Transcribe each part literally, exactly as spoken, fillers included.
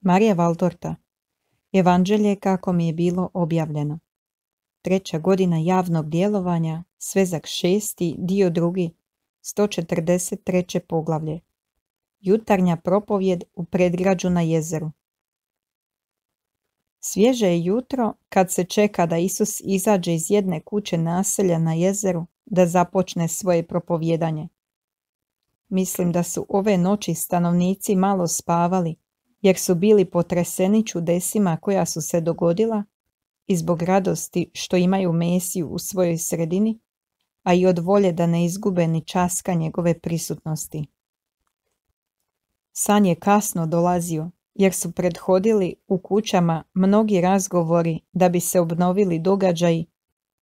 Marija Valtorta. Evanđelje kako mi je bilo objavljeno. Treća godina javnog djelovanja, svezak šesti, dio drugi, sto četrdeset treće poglavlje. Jutarnja propovjed u predgrađu na jezeru. Svježe je jutro kad se čeka da Isus izađe iz jedne kuće naselja na jezeru da započne svoje propovjedanje. Mislim da su ove noći stanovnici malo spavali jer su bili potreseni čudesima koja su se dogodila i zbog radosti što imaju Mesiju u svojoj sredini, a i od volje da ne izgube ni časka njegove prisutnosti. San je kasno dolazio jer su prethodili u kućama mnogi razgovori da bi se obnovili događaji,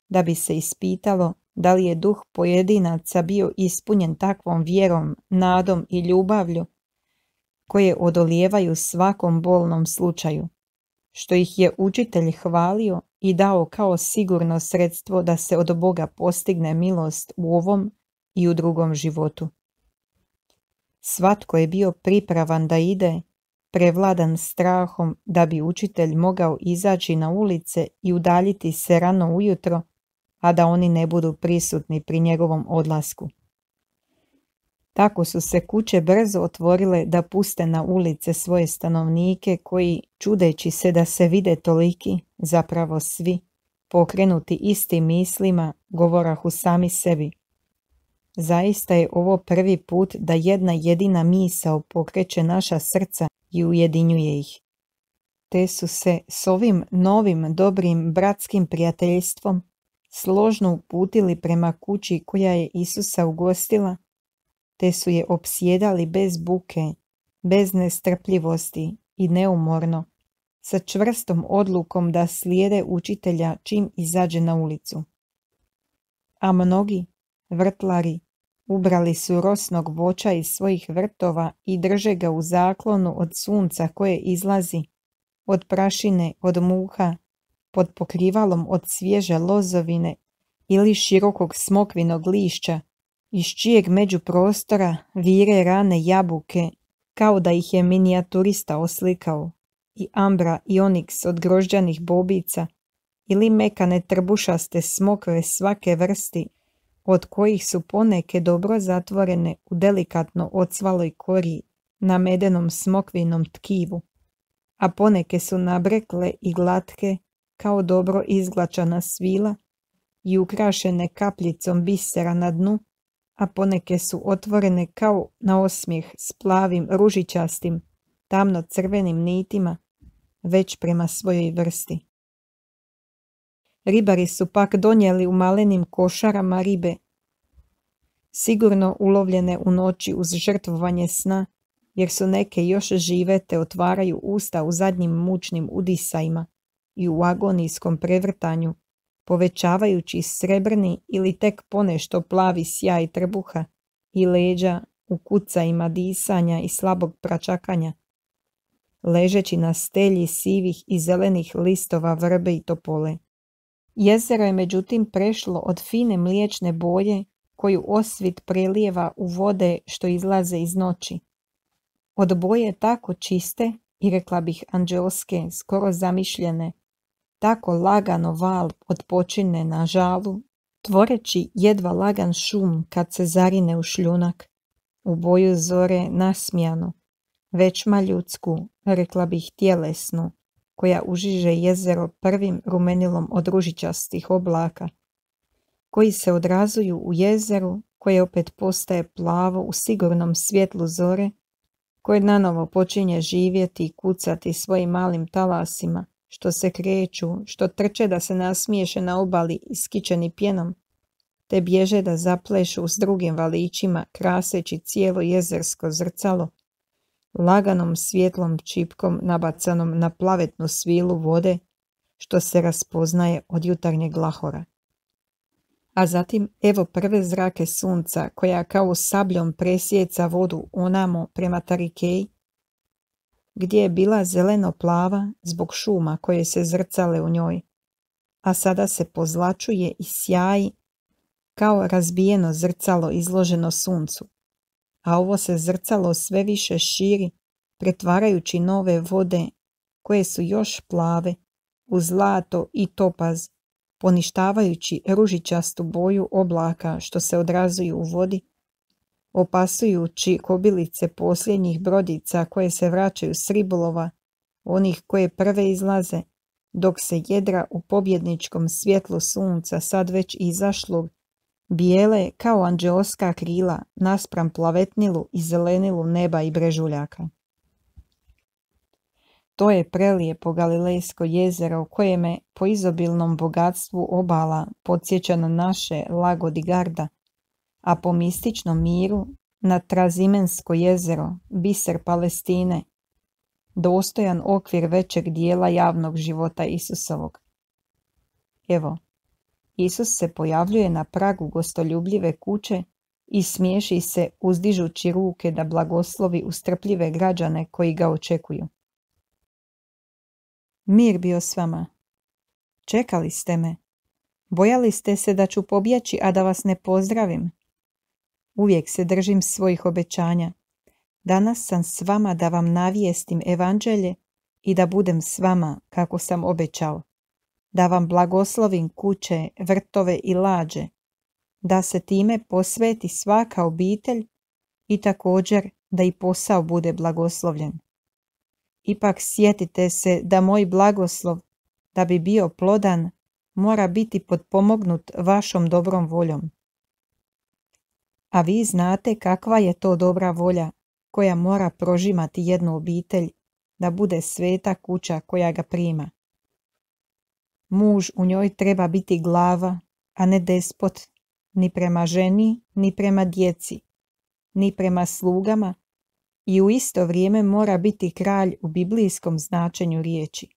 da bi se ispitalo da li je duh pojedinaca bio ispunjen takvom vjerom, nadom i ljubavlju koje odolijevaju svakom bolnom slučaju, što ih je učitelj hvalio i dao kao sigurno sredstvo da se od Boga postigne milost u ovom i u drugom životu. Svatko je bio pripravan da ide, prevladan strahom da bi učitelj mogao izaći na ulice i udaljiti se rano ujutro, a da oni ne budu prisutni pri njegovom odlasku. Tako su se kuće brzo otvorile da puste na ulice svoje stanovnike koji, čudeći se da se vide toliki, zapravo svi, pokrenuti istim mislima, govorahu sami sebi. Zaista je ovo prvi put da jedna jedina misao pokreće naša srca i ujedinjuje ih. Te su se s ovim novim dobrim bratskim prijateljstvom složno uputili prema kući koja je Isusa ugostila, te su je opsjedali bez buke, bez nestrpljivosti i neumorno, sa čvrstom odlukom da slijede učitelja čim izađe na ulicu. A mnogi, vrtlari, ubrali su rosnog voća iz svojih vrtova i drže ga u zaklonu od sunca koje izlazi, od prašine, od muha, pod pokrivalom od svježe lozovine ili širokog smokvinog lišća, iz čijeg međuprostora vire rane jabuke, kao da ih je minijaturista oslikao, i ambra i oniks od grožđanih bobica, ili mekane trbušaste smokve svake vrsti, od kojih su poneke dobro zatvorene u delikatno ocvaloj kori na medenom smokvinom tkivu, a poneke su nabrekle i glatke kao dobro izglačana svila i ukrašene kapljicom bisera na dnu, a poneke su otvorene kao na osmijeh s plavim ružičastim, tamno crvenim nitima, već prema svojoj vrsti. Ribari su pak donijeli u malenim košarama ribe, sigurno ulovljene u noći uz žrtvovanje sna, jer su neke još žive te otvaraju usta u zadnjim mučnim udisajima i u agonijskom prevrtanju, povećavajući srebrni ili tek ponešto plavi sjaj trbuha i leđa u kucajima disanja i slabog pračakanja, ležeći na stelji sivih i zelenih listova vrbe i topole. Jezero je međutim prešlo od fine mliječne boje koju osvit prelijeva u vode što izlaze iz noći. Od boje tako čiste i rekla bih anđelske, skoro zamišljene, tako lagano val odpočine na žalu, tvoreći jedva lagan šum kad se zarine u šljunak, u boju zore nasmijanu, većma ljudsku, rekla bih tjelesnu, koja užiže jezero prvim rumenilom od ružičastih oblaka, koji se odrazuju u jezeru, koje opet postaje plavo u sigurnom svjetlu zore, koje nanovo počinje živjeti i kucati svojim malim talasima, što se kreću, što trče da se nasmiješe na obali iskičeni pjenom, te bježe da zaplešu s drugim valićima, kraseći cijelo jezersko zrcalo, laganom svjetlom čipkom nabacanom na plavetnu svilu vode, što se raspoznaje od jutarnjeg glahora. A zatim evo prve zrake sunca koja kao sabljom presjeca vodu onamo prema Tarikeji, gdje je bila zeleno plava zbog šuma koje se zrcale u njoj, a sada se pozlačuje i sjaji kao razbijeno zrcalo izloženo suncu, a ovo se zrcalo sve više širi pretvarajući nove vode, koje su još plave, u zlato i topaz, poništavajući ružičastu boju oblaka što se odrazuju u vodi, opasujući kobilice posljednjih brodica koje se vraćaju s ribolova, onih koje prve izlaze, dok se jedra u pobjedničkom svjetlu sunca sad već izašlog, bijele kao anđeoska krila naspram plavetnilu i zelenilu neba i brežuljaka. To je prelijepo Galilejsko jezero u koje me po izobilnom bogatstvu obala podsjeća na naše Lago di Garda, a po mističnom miru na Trazimensko jezero, biser Palestine, dostojan okvir većeg dijela javnog života Isusovog. Evo, Isus se pojavljuje na pragu gostoljubljive kuće i smiješi se uzdižući ruke da blagoslovi ustrpljive građane koji ga očekuju. Mir bio s vama. Čekali ste me. Bojali ste se da ću pobjeći, a da vas ne pozdravim. Uvijek se držim svojih obećanja. Danas sam s vama da vam navijestim evanđelje i da budem s vama kako sam obećao. Da vam blagoslovim kuće, vrtove i lađe. Da se time posveti svaka obitelj i također da i posao bude blagoslovljen. Ipak sjetite se da moj blagoslov, da bi bio plodan, mora biti potpomognut vašom dobrom voljom. A vi znate kakva je to dobra volja koja mora prožimati jednu obitelj da bude sveta kuća koja ga prima. Muž u njoj treba biti glava, a ne despot, ni prema ženi, ni prema djeci, ni prema slugama, i u isto vrijeme mora biti kralj u biblijskom značenju riječi.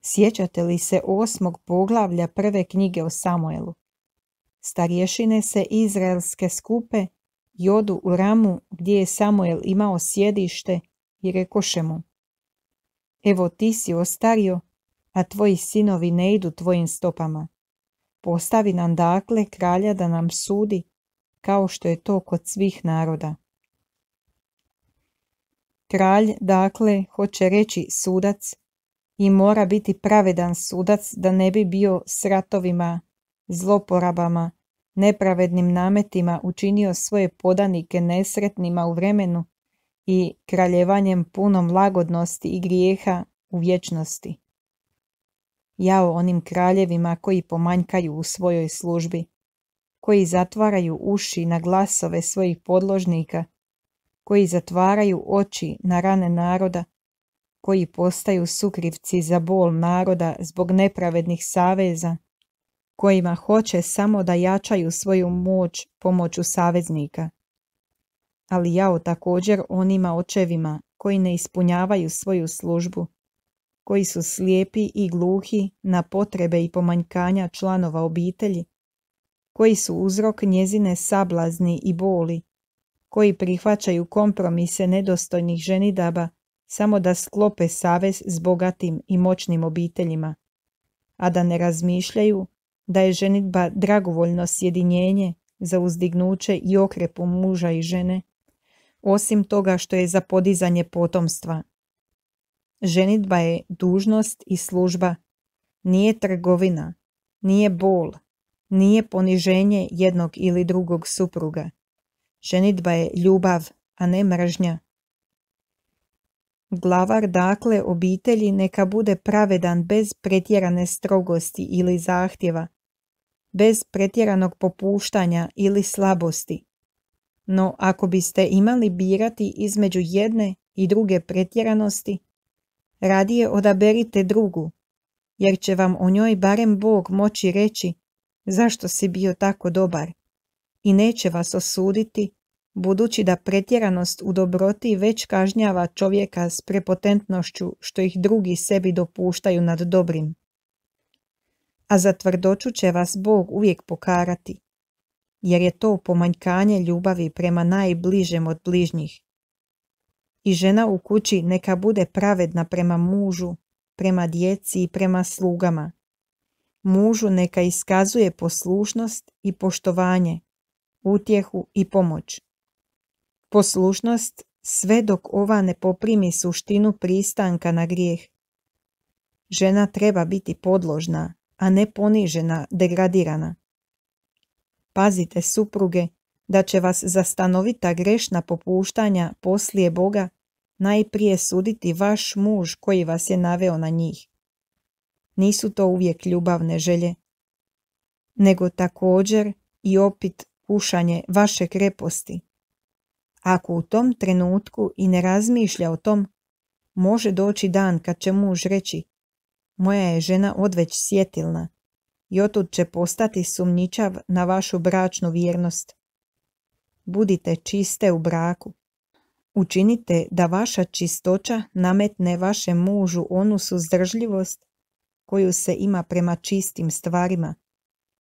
Sjećate li se osmog poglavlja prve knjige o Samuelu? Starješine se izraelske skupe i odu u Ramu gdje je Samuel imao sjedište i rekoše mu: Evo ti si ostario, a tvoji sinovi ne idu tvojim stopama. Postavi nam dakle kralja da nam sudi, kao što je to kod svih naroda. Kralj, dakle, hoće reći sudac i mora biti pravedan sudac da ne bi bio s ratovima, zloporabama, nepravednim nametima učinio svoje podanike nesretnima u vremenu i kraljevanjem punom lagodnosti i grijeha u vječnosti. Jao onim kraljevima koji pomanjkaju u svojoj službi, koji zatvaraju uši na glasove svojih podložnika, koji zatvaraju oči na rane naroda, koji postaju sukrivci za bol naroda zbog nepravednih saveza, kojima hoće samo da jačaju svoju moć pomoću saveznika. Ali jao također onima očevima koji ne ispunjavaju svoju službu, koji su slijepi i gluhi na potrebe i pomanjkanja članova obitelji, koji su uzrok njezine sablazni i boli, koji prihvaćaju kompromise nedostojnih ženidaba samo da sklope savez s bogatim i moćnim obiteljima, a da ne razmišljaju da je ženidba dragovoljno sjedinjenje za uzdignuće i okrepu muža i žene, osim toga što je za podizanje potomstva. Ženidba je dužnost i služba, nije trgovina, nije bol, nije poniženje jednog ili drugog supruga. Ženidba je ljubav, a ne mržnja. Glavar dakle obitelji neka bude pravedan bez pretjerane strogosti ili zahtjeva, bez pretjeranog popuštanja ili slabosti. No ako biste imali birati između jedne i druge pretjeranosti, radije odaberite drugu, jer će vam o njoj barem Bog moći reći zašto si bio tako dobar i neće vas osuditi, budući da pretjeranost u dobroti već kažnjava čovjeka s prepotentnošću što ih drugi sebi dopuštaju nad dobrim. A za tvrdoću će vas Bog uvijek pokarati, jer je to pomanjkanje ljubavi prema najbližem od bližnjih. I žena u kući neka bude pravedna prema mužu, prema djeci i prema slugama. Mužu neka iskazuje poslušnost i poštovanje, utjehu i pomoć. Poslušnost sve dok ova ne poprimi suštinu pristanka na grijeh. Žena treba biti podložna, a ne ponižena, degradirana. Pazite, supruge, da će vas za stanovita grešna popuštanja poslije Boga najprije suditi vaš muž koji vas je naveo na njih. Nisu to uvijek ljubavne želje, nego također i opit kušanje vaše kreposti. Ako u tom trenutku i ne razmišlja o tom, može doći dan kad će muž reći: moja je žena odveć sjetilna, i otud će postati sumnjičav na vašu bračnu vjernost. Budite čiste u braku. Učinite da vaša čistoća nametne vašem mužu onu suzdržljivost koju se ima prema čistim stvarima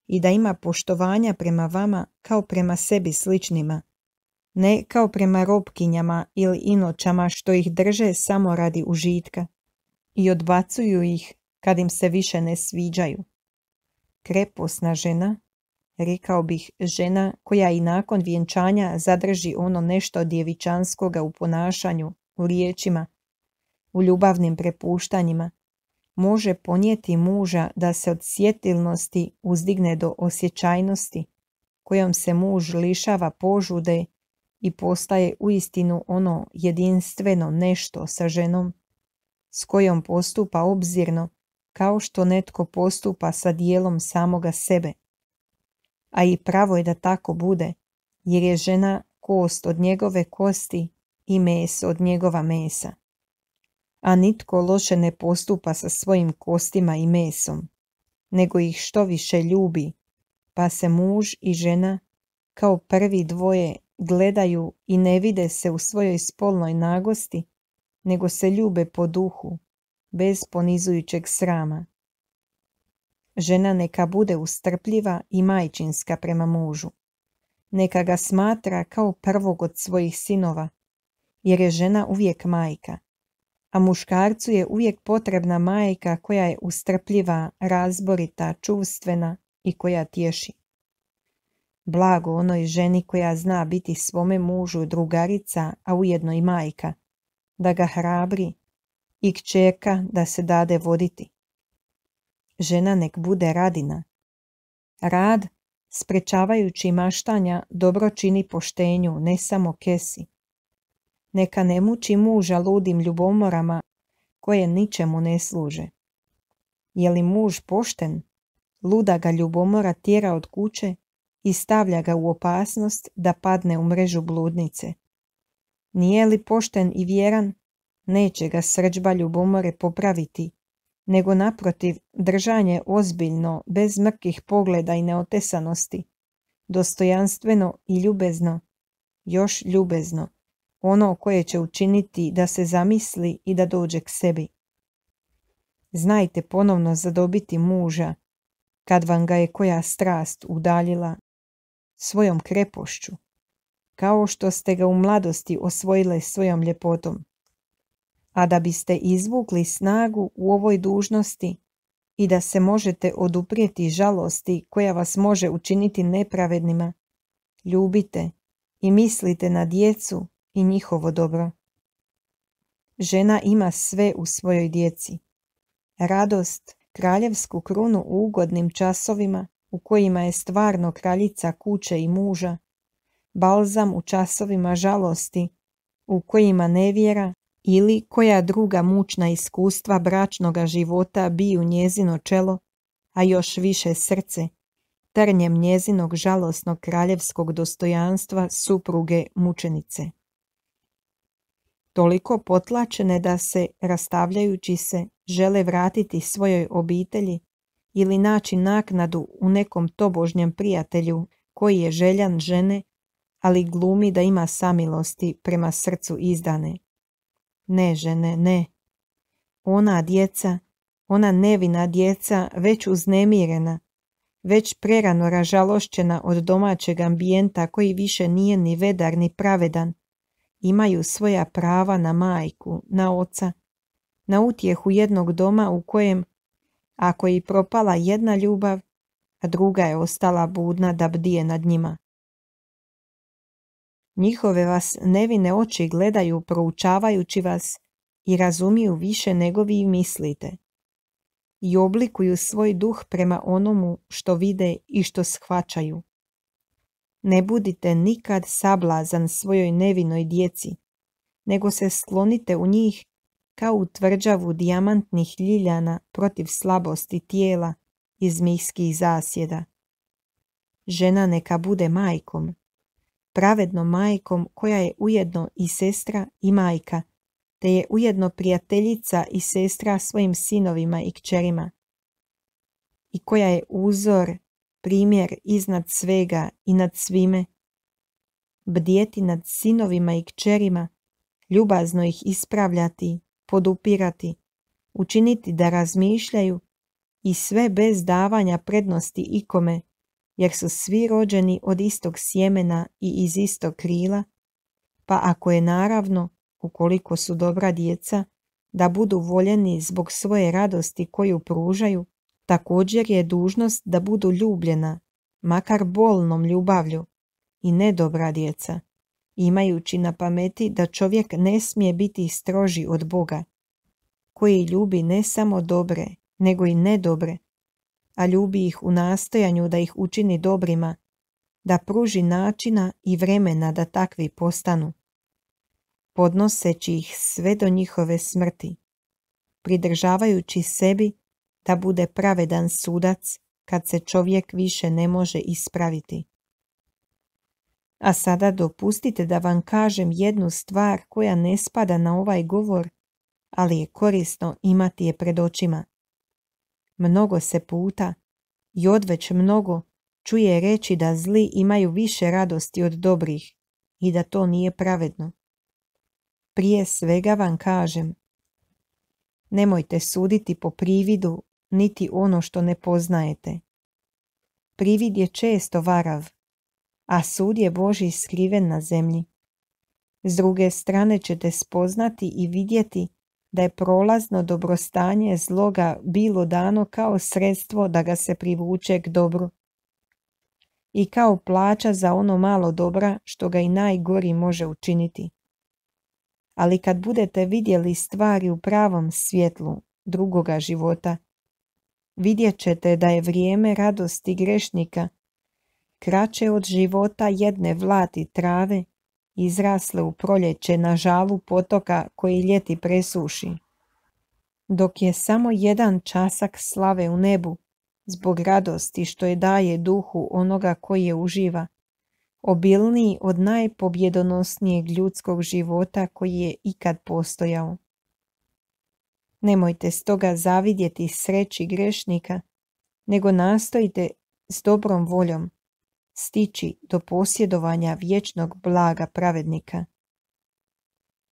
i da ima poštovanja prema vama kao prema sebi sličnima, ne kao prema robkinjama ili inočama što ih drže samo radi užitka i odbacuju ih kad im se više ne sviđaju. Kreposna žena, rekao bih žena koja i nakon vjenčanja zadrži ono nešto djevičanskoga u ponašanju, u riječima, u ljubavnim prepuštanjima, može ponijeti muža da se od sjetilnosti uzdigne do osjećajnosti, kojom se muž lišava požude i postaje uistinu ono jedinstveno nešto sa ženom, s kojom postupa obzirno kao što netko postupa sa dijelom samoga sebe. A i pravo je da tako bude, jer je žena kost od njegove kosti i meso od njegova mesa. A nitko loše ne postupa sa svojim kostima i mesom, nego ih što više ljubi, pa se muž i žena kao prvi dvoje gledaju i ne vide se u svojoj spolnoj nagosti, nego se ljube po duhu, bez ponizujućeg srama. Žena neka bude ustrpljiva i majčinska prema mužu. Neka ga smatra kao prvog od svojih sinova, jer je žena uvijek majka, a muškarcu je uvijek potrebna majka koja je ustrpljiva, razborita, čuvstvena i koja tješi. Blago onoj ženi koja zna biti svome mužu drugarica, a ujedno i majka, da ga hrabri, i kćerka da se dade voditi. Žena nek bude radina. Rad, sprečavajući maštanja, dobro čini poštenju, ne samo kesi. Neka ne muči muža ludim ljubomorama koje ničemu ne služe. Je li muž pošten, luda ga ljubomora tjera od kuće i stavlja ga u opasnost da padne u mrežu bludnice. Nije li pošten i vjeran, neće ga srdžba ljubomore popraviti, nego naprotiv držanje ozbiljno, bez mrkih pogleda i neotesanosti, dostojanstveno i ljubezno, još ljubezno, ono koje će učiniti da se zamisli i da dođe k sebi. Znajte ponovno zadobiti muža, kad vam ga je koja strast udaljila, svojom krepošću, kao što ste ga u mladosti osvojile svojom ljepotom. A da biste izvukli snagu u ovoj dužnosti i da se možete oduprijeti žalosti koja vas može učiniti nepravednima, ljubite i mislite na djecu i njihovo dobro. Žena ima sve u svojoj djeci. Radost, kraljevsku krunu u ugodnim časovima u kojima je stvarno kraljica kuće i muža, balzam u časovima žalosti u kojima nevjera ili koja druga mučna iskustva bračnoga života biju njezino čelo, a još više srce, trnjem njezinog žalosnog kraljevskog dostojanstva supruge mučenice. Toliko potlačene da se, rastavljajući se, žele vratiti svojoj obitelji ili naći naknadu u nekom tobožnjem prijatelju koji je željan žene, ali glumi da ima samilosti prema srcu izdane. Ne, žene, ne. Ona djeca, ona nevina djeca, već uznemirena, već prerano ražalošćena od domaćeg ambijenta koji više nije ni vedar ni pravedan, imaju svoja prava na majku, na oca, na utjehu jednog doma u kojem, ako je propala jedna ljubav, a druga je ostala budna da bdije nad njima. Njihove vas nevine oči gledaju proučavajući vas i razumiju više nego vi mislite. I oblikuju svoj duh prema onomu što vide i što shvaćaju. Ne budite nikad sablazan svojoj nevinoj djeci, nego se sklonite u njih kao u tvrđavu dijamantnih ljiljana protiv slabosti tijela i zmijskih zasjeda. Žena neka bude majkom, pravednom majkom koja je ujedno i sestra i majka, te je ujedno prijateljica i sestra svojim sinovima i kćerima, i koja je uzor, primjer iznad svega i nad svime, bdjeti nad sinovima i kćerima, ljubazno ih ispravljati, podupirati, učiniti da razmišljaju i sve bez davanja prednosti ikome, jer su svi rođeni od istog sjemena i iz istog krila, pa ako je naravno, ukoliko su dobra djeca, da budu voljeni zbog svoje radosti koju pružaju, također je dužnost da budu ljubljena, makar bolnom ljubavlju, i ne dobra djeca, imajući na pameti da čovjek ne smije biti stroži od Boga, koji ljubi ne samo dobre, nego i nedobre, a ljubi ih u nastojanju da ih učini dobrima, da pruži načina i vremena da takvi postanu, podnoseći ih sve do njihove smrti, pridržavajući sebi da bude pravedan sudac kad se čovjek više ne može ispraviti. A sada dopustite da vam kažem jednu stvar koja ne spada na ovaj govor, ali je korisno imati je pred očima. Mnogo se puta, i odveć mnogo, čuje reći da zli imaju više radosti od dobrih i da to nije pravedno. Prije svega vam kažem, nemojte suditi po prividu niti ono što ne poznajete. Privid je često varav, a sud je Božji skriven na zemlji. S druge strane ćete spoznati i vidjeti da je prolazno dobrostanje zloga bilo dano kao sredstvo da ga se privuče k dobru i kao plaća za ono malo dobra što ga i najgori može učiniti. Ali kad budete vidjeli stvari u pravom svjetlu drugoga života, vidjet ćete da je vrijeme radosti grešnika kraće od života jedne vlati trave izrasle u proljeće na žalu potoka koji ljeti presuši. Dok je samo jedan časak slave u nebu, zbog radosti što je daje duhu onoga koji je uživa, obilniji od najpobjedonosnijeg ljudskog života koji je ikad postojao. Nemojte stoga zavidjeti sreći grešnika, nego nastojite s dobrom voljom stići do posjedovanja vječnog blaga pravednika.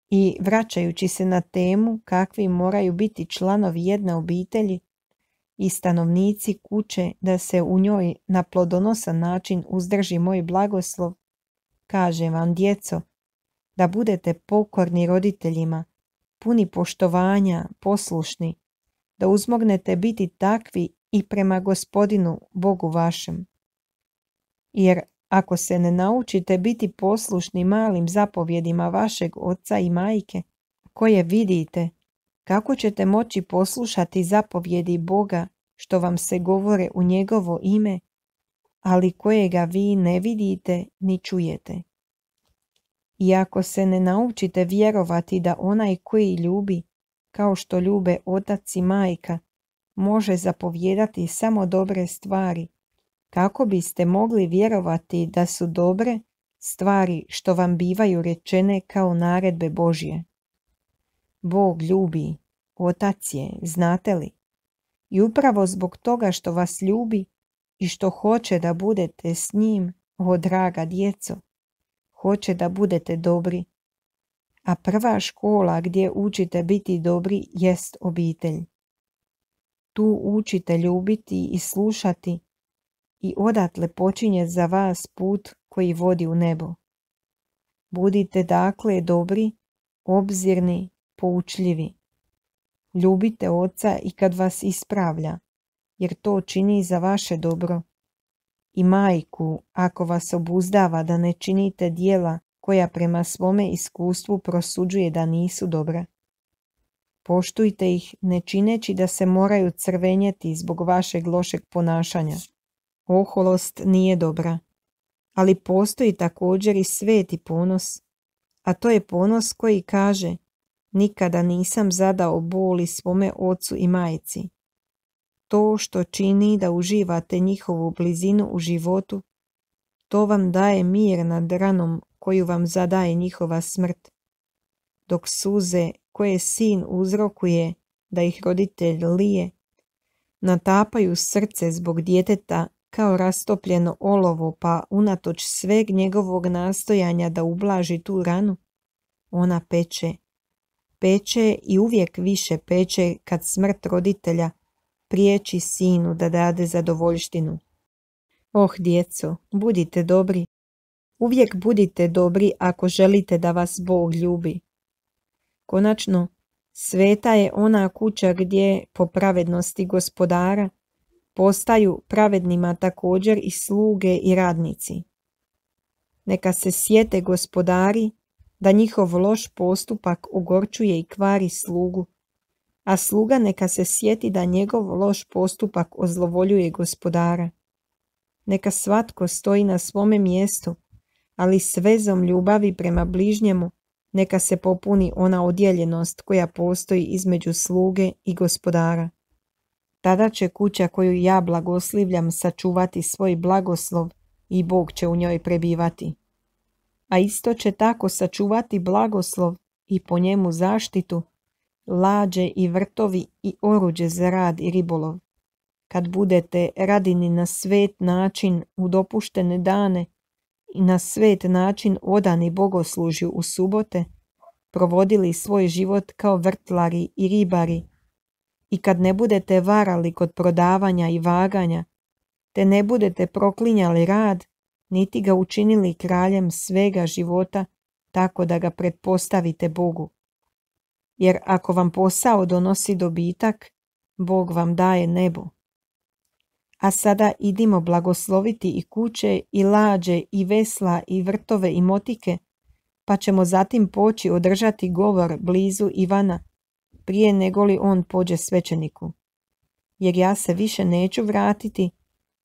I vraćajući se na temu kakvi moraju biti članovi jedne obitelji i stanovnici kuće da se u njoj na plodonosan način uzdrži moj blagoslov, kažem vam, djeco, da budete pokorni roditeljima, puni poštovanja, poslušni, da uzmognete biti takvi i prema Gospodinu Bogu vašem. Jer ako se ne naučite biti poslušni malim zapovjedima vašeg oca i majke, koje vidite, kako ćete moći poslušati zapovjedi Boga što vam se govore u njegovo ime, ali kojega vi ne vidite ni čujete? I ako se ne naučite vjerovati da onaj koji ljubi, kao što ljube otac i majka, može zapovjedati samo dobre stvari, kako biste mogli vjerovati da su dobre stvari što vam bivaju rečene kao naredbe Božje? Bog ljubi, Otac je, znate li? I upravo zbog toga što vas ljubi i što hoće da budete s njim, o draga djeco, hoće da budete dobri. A prva škola gdje učite biti dobri jest obitelj. Tu učite ljubiti i slušati i odatle počinje za vas put koji vodi u nebo. Budite dakle dobri, obzirni, poučljivi. Ljubite oca i kad vas ispravlja, jer to čini za vaše dobro. I majku, ako vas obuzdava da ne činite djela koja prema svome iskustvu prosuđuje da nisu dobra. Poštujte ih, ne čineći da se moraju crvenjeti zbog vašeg lošeg ponašanja. Oholost nije dobra. Ali postoji također i sveti ponos, a to je ponos koji kaže: nikada nisam zadao boli svome ocu i majci. To što čini da uživate njihovu blizinu u životu, to vam daje mir nad ranom koju vam zadaje njihova smrt, dok suze koje sin uzrokuje da ih roditelj lije, natapaju srce zbog djeteta kao rastopljeno olovo, pa unatoč sveg njegovog nastojanja da ublaži tu ranu, ona peče. Peče i uvijek više peče kad smrt roditelja priječi sinu da dade zadovoljštinu. Oh, djeco, budite dobri. Uvijek budite dobri ako želite da vas Bog ljubi. Konačno, sveta je ona kuća gdje, po pravednosti Gospodara, postaju pravednima također i sluge i radnici. Neka se sjete gospodari da njihov loš postupak ogorčuje i kvari slugu, a sluga neka se sjeti da njegov loš postupak ozlovoljuje gospodara. Neka svatko stoji na svome mjestu, ali s vezom ljubavi prema bližnjemu neka se popuni ona odjeljenost koja postoji između sluge i gospodara. Tada će kuća koju ja blagoslivljam sačuvati svoj blagoslov i Bog će u njoj prebivati. A isto će tako sačuvati blagoslov i po njemu zaštitu, lađe i vrtovi i oruđe za rad i ribolov. Kad budete radini na svet način u dopuštene dane i na svet način odani bogoslužju u subote, provodili svoj život kao vrtlari i ribari, i kad ne budete varali kod prodavanja i vaganja, te ne budete proklinjali rad, niti ga učinili kraljem svega života, tako da ga pretpostavite Bogu. Jer ako vam posao donosi dobitak, Bog vam daje nebo. A sada idimo blagosloviti i kuće, i lađe, i vesla, i vrtove, i motike, pa ćemo zatim poći održati govor blizu Ivana, prije nego li on pođe svećeniku. Jer ja se više neću vratiti,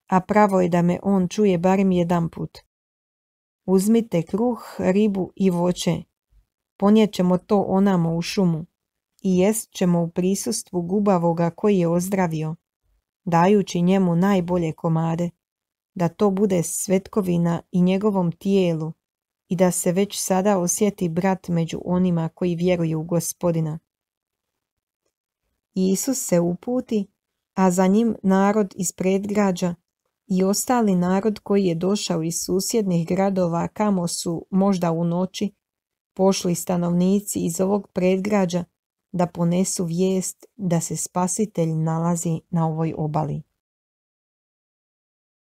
a pravo je da me on čuje barem jedan put. Uzmite kruh, ribu i voće, ponijet ćemo to onamo u šumu, i jest ćemo u prisustvu gubavoga koji je ozdravio, dajući njemu najbolje komade, da to bude svetkovina i njegovom tijelu, i da se već sada osjeti brat među onima koji vjeruju u Gospodina. Isus se uputi, a za njim narod iz predgrađa i ostali narod koji je došao iz susjednih gradova kamo su možda u noći pošli stanovnici iz ovog predgrađa da ponesu vijest da se Spasitelj nalazi na ovoj obali.